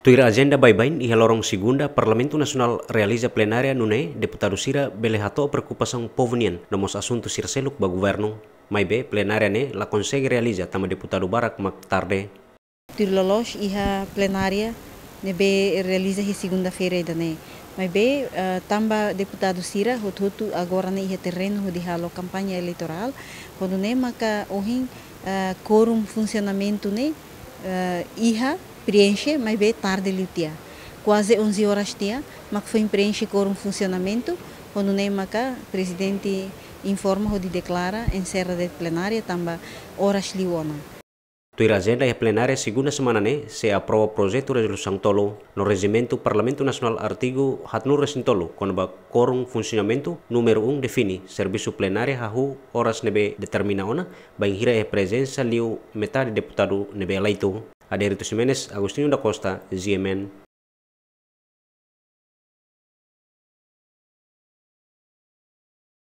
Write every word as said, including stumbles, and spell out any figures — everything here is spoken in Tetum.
Tuir ajenda baibain, iha loron segunda Parlamentu Nasionál realiza plenária nune'e deputadu sira bele hato'o preokupasaun povu nian no mós asuntu sira seluk ba governu. Maibé plenária ne'e la konsege realiza tanba deputadu barak mak tarde. Tuir loloos iha plenária ne'ebé realiza iha segunda-feira ida-ne'e. Maibé, eh, tanba deputadu sira hotu-hotu agora ne'e iha terrenu hodi halo kampaña eleitorál, hodi nune'e maka ohin, eh, kuorum funsionamentu ne'e, eh, iha preenxe, maibé tarde liu tiha. Kuaze onze horas tiha mak foin preenxe kuorum funsionamentu, hodi nune'e maka prezidente informa hodi deklara enserra de'it plenária tanba oras liu ona. Tuir ajenda iha plenária segunda semana ne'e sei aprova projetu rezolusaun tolu no rejimentu Parlamentu Nasionál artigu haatnulu-resin-tolu kona-ba kuorum funsionamentu númeru um define servisu plenária hahú oras ne'ebé determina ona, bainhira iha prezensa liu metade deputadu ne'ebé eleitu. Adérito Ximenes, Agostinho da Costa, G M N.